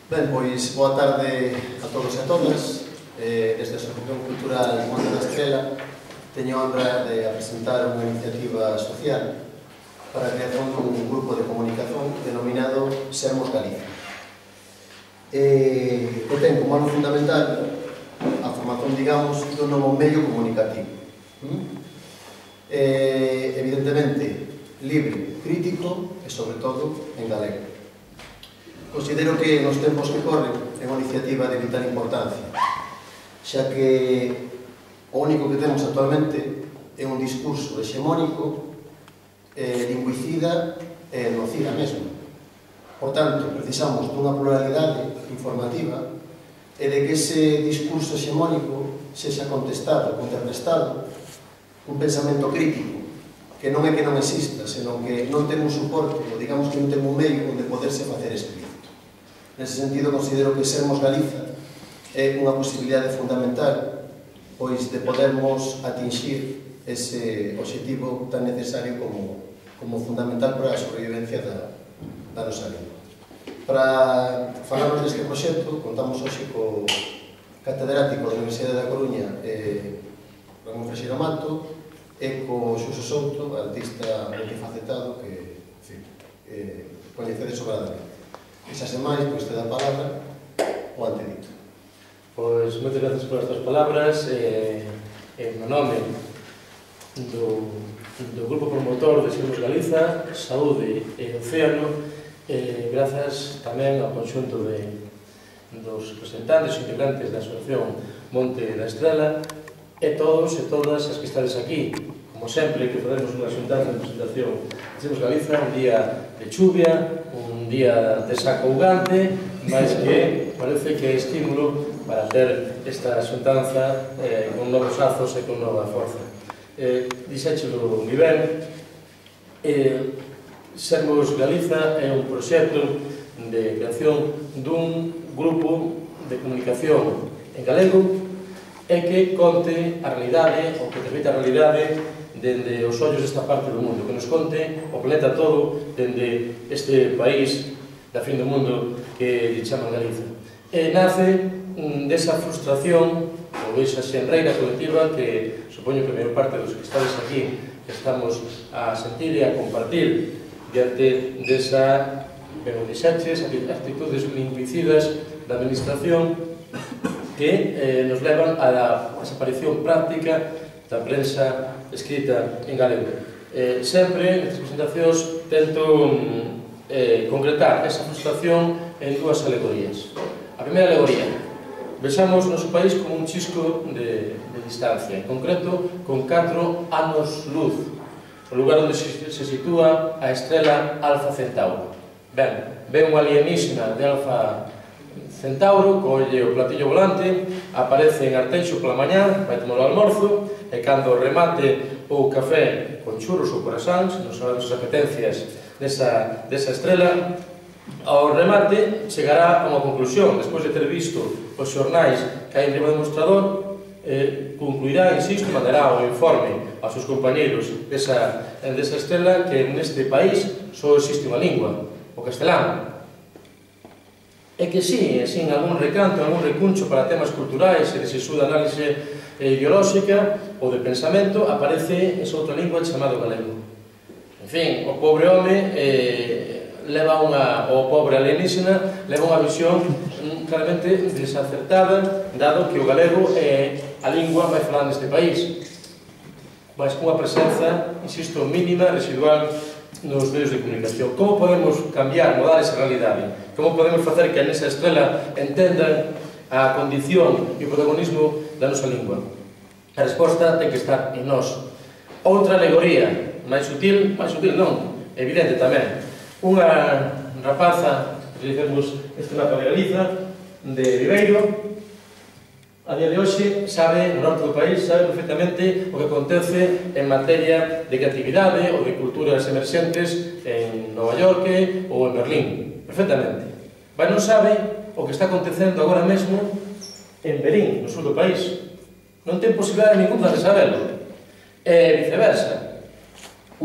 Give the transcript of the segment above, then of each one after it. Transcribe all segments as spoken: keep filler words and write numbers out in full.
Ben, pois, boa tarde a todos e a todas. Eh, desde a Asociación Cultural Monte da Estrela teño a honra de presentar unha iniciativa social para a creación dun grupo de comunicación denominado Sermos Galicia. Eh, que ten como ano fundamental a formación, digamos, dun novo medio comunicativo. ¿Mm? Eh, evidentemente, libre, crítico e, sobre todo, en galego. Considero que nos tempos que corren é unha iniciativa de vital importancia, xa que o único que temos actualmente é un discurso hexemónico, eh, lingüicida e nocida mesmo. Por tanto, precisamos dunha pluralidade informativa e de que ese discurso hexemónico sexa contestado, contrarrestado, un pensamento crítico, que non é que non exista, senón que non ten un soporte, ou digamos que non ten un medio onde poderse facer explícito. Nese sentido, considero que Sermos Galiza é unha posibilidade fundamental pois de podermos atinxir ese obxectivo tan necesario como, como fundamental para a sobrevivencia da, da nosa lingua. Para falarnos deste proxecto, contamos hoxe co catedrático da Universidade da Coruña, eh, Ramón Freixeiro Mato, e co Xuxo Souto, artista multifacetado que, en fin, eh, coñecedes sobradamente. Esa semais, pois, te dá a palabra o antedito. Pois, moitas gracias por estas palabras. Eh, en o nome do, do Grupo Promotor de Sermos Galiza, Saúde e Océano, eh, grazas tamén ao conxunto de, dos representantes e integrantes da Asociación Monte da Estrela e todos e todas as que estades aquí. Como sempre, que facemos unha xuntanza de presentación de Sermos Galiza, un día de chuvia, un día de sacougante, mas que parece que é estímulo para ter esta xuntanza eh, con novos azos e con nova forza. Eh, Dixéchelo moi ben, eh, Sermos Galiza é un proxecto de creación dun grupo de comunicación en galego e que conte a realidade, ou que transmita a realidade dende os ollos desta parte do mundo, que nos conte o planeta todo dende este país da fin do mundo que lle chaman Galiza. E nace desa frustración ou desa xenreira colectiva que supoño que a maior parte dos que estades aquí que estamos a sentir e a compartir diante desa, ben o dixaches, actitudes lingüicidas da administración que eh, nos levan a la desaparición práctica da prensa escrita en galego. Eh, sempre, nestas presentacións, tento eh, concretar esa frustración en dúas alegorías. A primeira alegoría, vexamos o noso país como un chisco de, de distancia, en concreto, con catro anos luz, o lugar onde se, se sitúa a estrela Alfa Centauro. Ben, ve un alienígena de Alfa Centauro, colle o platillo volante, aparece en Arteixo pola mañá, vai tomar o almorzo, e cando remate o café con churros ou corazáns, non sabemos as apetencias desa, desa estrela, ao remate chegará a unha conclusión, despois de ter visto os xornais que hai en riba do mostrador, eh, concluirá, insisto, mandará o informe aos seus compañeiros desa, desa estrela que neste país só existe unha lingua, o castelán. É que sí, sin algún recanto, algún recuncho para temas culturais e de sesuda análise ideolóxica ou de pensamento, aparece esa outra lingua chamado galego. En fin, o pobre home eh, leva unha, o pobre alienígena leva unha visión mm, claramente desacertada, dado que o galego é a lingua máis falada neste país, mas cunha presenza, insisto, mínima, residual nos medios de comunicación. Como podemos cambiar, mudar esa realidade? Como podemos facer que nesa estrela entendan a condición e o protagonismo da nosa lingua? A resposta ten que estar en nós. Outra alegoría, máis sutil, máis sutil non, evidente tamén. Unha rapaza, utilicemos este mapa de Galiza, de Viveiro, a día de hoxe sabe, no norte do país, sabe perfectamente o que acontece en materia de creatividade ou de culturas emerxentes en Nova York ou en Berlín, perfectamente. Mas non sabe o que está acontecendo agora mesmo en Berín, no sur do país. Non ten posibilidade ninguna de saberlo. E viceversa.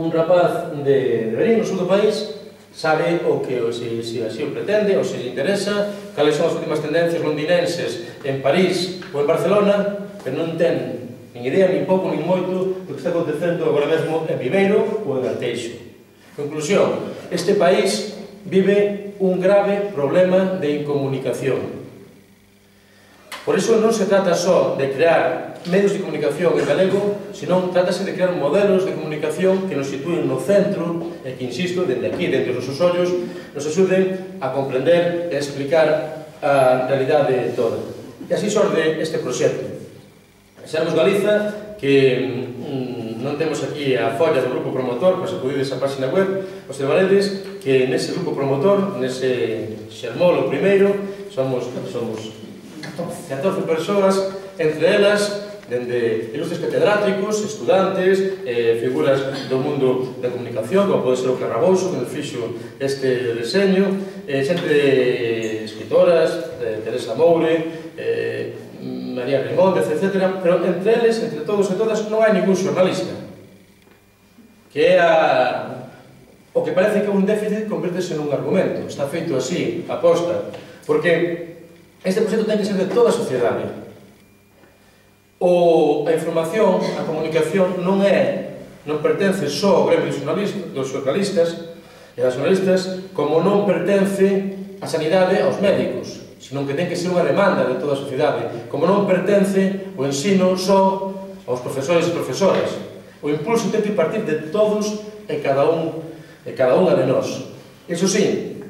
Un rapaz de Berín, no sur do país, sabe o que, se, se así o pretende, ou se lle interesa, cales son as últimas tendencias londinenses en París ou en Barcelona, pero non ten nin idea, nin pouco, nin moito do que está acontecendo agora mesmo en Viveiro ou en Arteixo. Conclusión, este país vive un grave problema de incomunicación. Por iso non se trata só de crear medios de comunicación en galego, senón trátase de crear modelos de comunicación que nos sitúen no centro e que, insisto, dende aquí, dentro dos nosos ollos, nos axuden a comprender e a explicar a realidade toda. E así xorde este proxecto. Sermos Galiza, que mm, non temos aquí a folla do grupo promotor, pois acudides á página web, os trabaredes, que nese grupo promotor, nese xermolo primeiro, somos, somos catorce persoas, entre elas, dende ilustres catedráticos, estudantes, eh, figuras do mundo da comunicación, como pode ser o Carrabouso, que nos fixo este deseño, eh, xente escritoras, eh, Teresa Moure, eh, María Remóndez, etcétera, pero entre eles, entre todos e todas, non hai ningún xornalista, que é a... o que parece que un déficit convértese nun argumento. Está feito así, aposta, porque este proxecto ten que ser de toda a sociedade. O, a información, a comunicación non é, non pertence só ao gremio dos xornalistas e das xornalistas, como non pertence a sanidade aos médicos, senón que ten que ser unha demanda de toda a sociedade, como non pertence o ensino só aos profesores e profesoras. O impulso ten que partir de todos e cada un e cada unha de nós. Iso sí,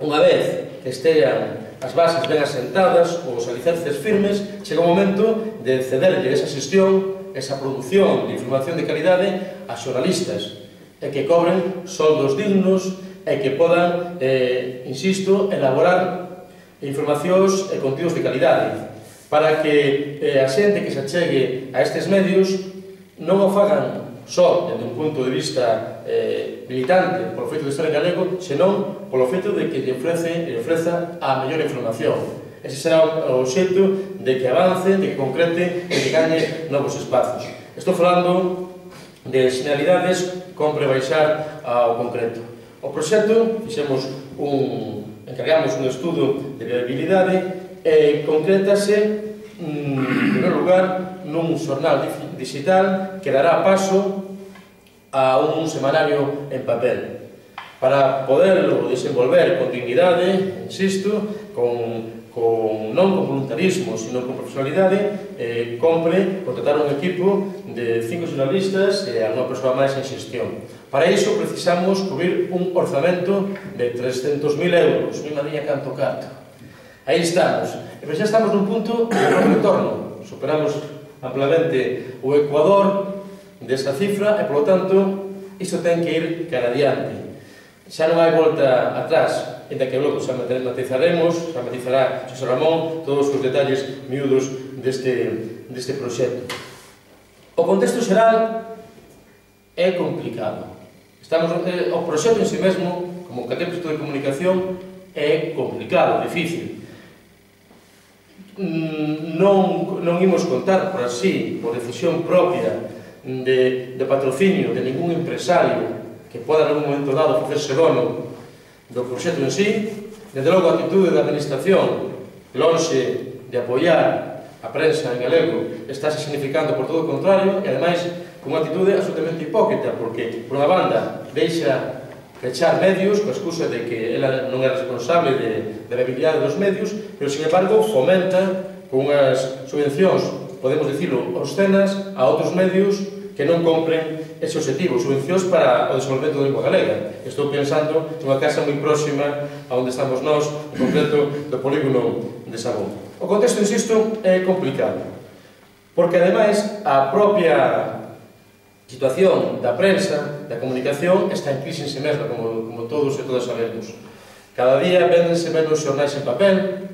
unha vez que estean as bases ben asentadas, os alicerces firmes, chega o momento de cederlle esa xestión, esa produción de información de calidade a xornalistas, e que cobren soldos dignos e que podan, eh, insisto, elaborar informacións e contidos de calidade, para que eh, a xente que se achegue a estes medios non o fagan só desde un punto de vista eh, militante polo feito de estar en galego, senón polo feito de que lle ofrece, lle ofreza a mellor información. Ese será o xeito de que avance, de que concrete e de que gañe novos espazos. Estou falando de xeneralidades, compre baixar ao concreto. O proxecto, fixemos un, encargamos un estudo de viabilidade e concrétase, en primeiro lugar, nun xornal digital que dará paso a un semanario en papel. Para poderlo desenvolver con dignidade, insisto, con, con, non con voluntarismo, sino con profesionalidade, eh, compre contratar un equipo de cinco xornalistas e a unha persoa máis en xestión. Para iso precisamos cubrir un orzamento de trescentos mil euros, mi madriña canto carto. Aí estamos, e xa estamos nun punto de non retorno, superamos amplamente o Ecuador desa cifra e, polo tanto, iso ten que ir cara adiante. Xa non hai volta atrás, e da que logo xa matizaremos, xa matizará Xosé Ramón todos os detalles miúdos deste, deste proxecto. O contexto xeral é complicado. Estamos, eh, o proxecto en si mesmo, como calquer proxecto de comunicación, é complicado, difícil. Non, non imos contar por así, por decisión propia de, de patrocinio de ningún empresario que poda en un momento dado facerse dono do proxecto en sí. Desde logo a actitude da administración, lonxe de apoiar a prensa en galego, estáse significando por todo o contrario, e ademais con unha actitude absolutamente hipócrita, porque por unha banda deixa pechar medios, coa excusa de que ela non é responsable de, de viabilidade dos medios, pero, sin embargo, fomenta con unhas subvencións, podemos dicilo, obscenas, a outros medios que non compren ese objetivo, subvencións para o desenvolvemento da lingua galega. Estou pensando nunha casa moi próxima a onde estamos nós, en concreto do polígono de Sabón. O contexto, insisto, é complicado, porque, ademais, a propia situación da prensa, da comunicación, está en crise en si mesma, como, como todos e todas sabemos. Cada día véndense menos xornais en papel,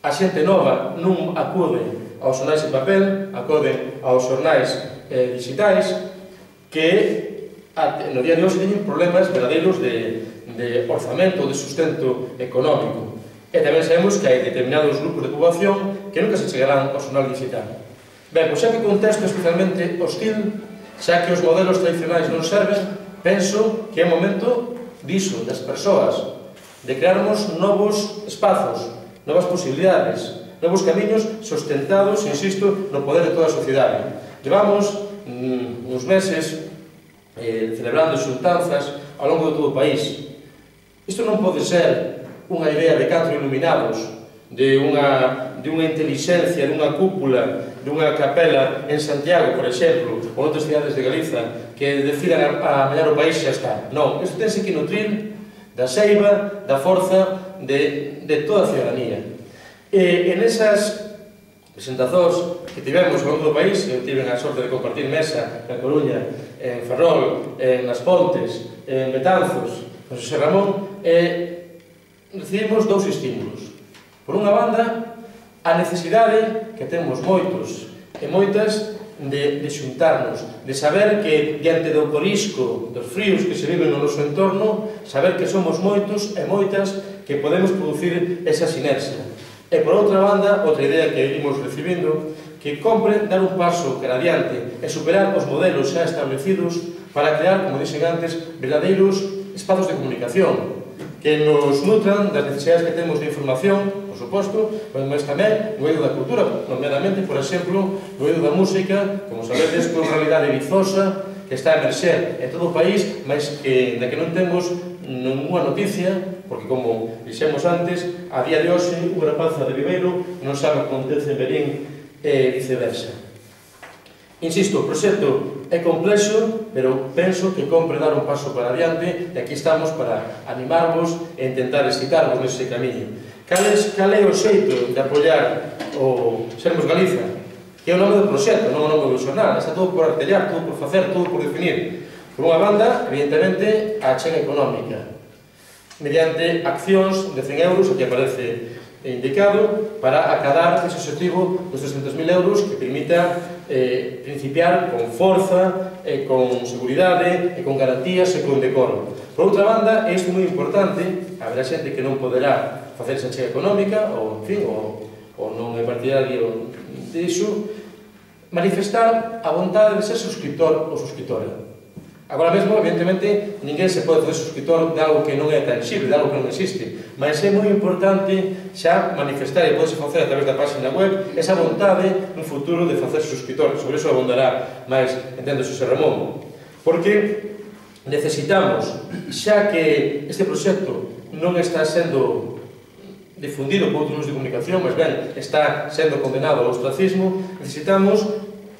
a xente nova non acude aos xornais en papel, acude aos xornais eh, digitais, que a, no día de hoxe teñen problemas verdadeiros de, de orzamento, de sustento económico. E tamén sabemos que hai determinados grupos de poboación que nunca se chegarán ao xornal digital. Ben, pois xa que o contexto é especialmente hostil, xa que os modelos tradicionais non serven, penso que é momento diso, das persoas, de crearmos novos espazos, novas posibilidades, novos camiños sustentados, insisto, no poder de toda a sociedade. Levamos mm, uns meses eh, celebrando xuntanzas ao longo de todo o país. Isto non pode ser unha idea de catro iluminados, de unha, de unha inteligencia, de unha cúpula, de unha capela en Santiago, por exemplo, ou outras cidades de Galiza, que decidan a mallar o país e xa está. Non, isto tense que nutrir da seiva, da forza de, de toda a ciudadanía. E en esas presentazóns que tivemos ao longo do país, eu tive a sorte de compartir mesa na Coruña, en Ferrol, en As Pontes, en Betanzos, en Xosé Ramón, e recibimos dous estímulos. Por unha banda, a necesidade que temos moitos e moitas de, de xuntarnos, de saber que, diante do corisco, dos fríos que se viven no noso entorno, saber que somos moitos e moitas que podemos producir esa sinerxia. E, por outra banda, outra idea que imos recibindo, que compre dar un paso cara adiante e superar os modelos xa establecidos para crear, como dixen antes, verdadeiros espazos de comunicación que nos nutran das necesidades que temos de información, por suposto, mas tamén no eido da cultura, nomeadamente, por exemplo, no eido da música, como sabedes, con realidade vizosa que está a emerxer en todo o país, mas que, na que non temos ninguna noticia, porque, como dixemos antes, a día de hoxe, unha rapaza de Viveiro non sabe o que acontece en Berín e viceversa. Insisto, o proxecto é complexo, pero penso que compre dar un paso para adiante e aquí estamos para animarvos e intentar excitarvos nese camiño. Cal é o xeito de apoiar o Sermos Galiza? Que é o nome do proxecto, non o nome do xornal. Está todo por artellar, todo por facer, todo por definir. Por unha banda, evidentemente, a achega económica, mediante accións de cen euros, aquí aparece indicado, para acadar ese objetivo dos trescentos mil euros que permita eh, principiar con forza, eh, con seguridade, e con garantías e con decoro. Por outra banda, e isto é moi importante, haberá xente que non poderá facer esa achega económica, ou, en fin, ou, ou non é partidario disso, manifestar a vontade de ser suscriptor ou suscriptora. Agora mesmo, evidentemente, ninguén se pode fazer suscriptor de algo que non é tangible, de algo que non existe, mas é moi importante xa manifestar, e pode facer a través da página web, esa vontade no futuro de facer suscriptor. Sobre iso abondará máis, entendo, Xosé Ramón, porque necesitamos, xa que este proxecto non está sendo difundido por outros de comunicación, mas ben, está sendo condenado ao ostracismo, necesitamos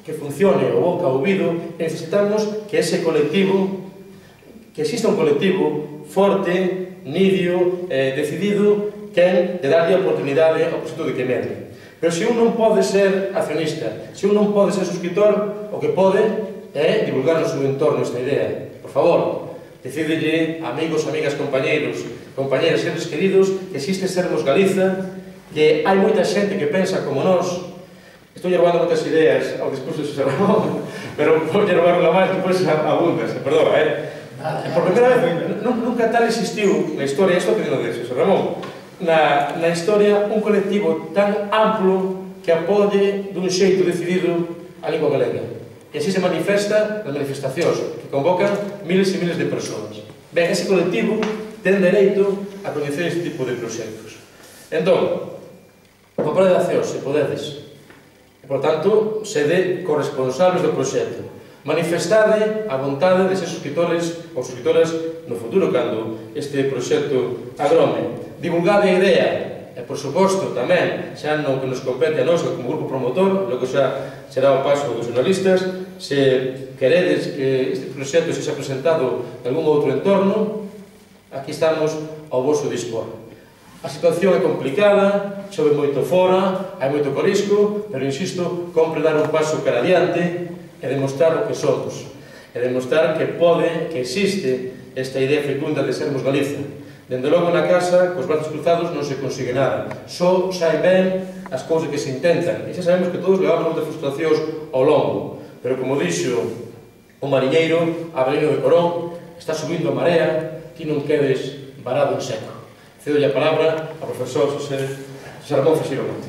que funcione o boca ao ouvido, e necesitamos que ese colectivo, que exista un colectivo forte, nidio, eh, decidido, que de darlle a oportunidade ao proxecto de que medre. Pero se un non pode ser accionista, se un non pode ser suscriptor, o que pode é divulgar no seu entorno esta idea. Por favor, decidelle, amigos, amigas, compañeiros, compañeras, seres queridos, que existe Sermos Galiza, que hai moita xente que pensa como nós. Estou llevando moitas ideas ao discurso de Xosé Ramón, pero vou llevar unha máis, depois abundas, perdón, eh? Por primeira vez, nunca tal existiu na historia, isto que digo de Xosé Ramón, na, na historia un colectivo tan amplo que apoie dun xeito decidido a lingua galega. E así se manifesta nas manifestacións, que convocan miles e miles de persoas. Ben, ese colectivo ten dereito a coñecer este tipo de proxectos. Entón, o papel de acción, se podedes, por tanto, sede corresponsables do proxecto. Manifestade a vontade de ser suscriptores ou suscriptoras no futuro, cando este proxecto agrome. Divulgade a idea, e, por suposto, tamén, xa no que nos compete a nós como grupo promotor, logo xa será o paso dos jornalistas, se queredes que este proxecto se xa presentado en algún outro entorno, aquí estamos ao vosso dispor. A situación é complicada, chove moito fora, hai moito corisco, pero, insisto, compre dar un paso cara adiante e demostrar o que somos. E demostrar que pode, que existe esta idea fecunda de Sermos Galiza. Dende logo na casa, cos brazos cruzados, non se consigue nada. Só saen ben as cousas que se intentan. E xa sabemos que todos levamos moitas frustracións ao longo. Pero, como dixo o mariñeiro, Avelino de Corón, está subindo a marea, ti non quedes varado en seco. Cedo a palabra ao profesor Xosé Ramón Cesiro Monte.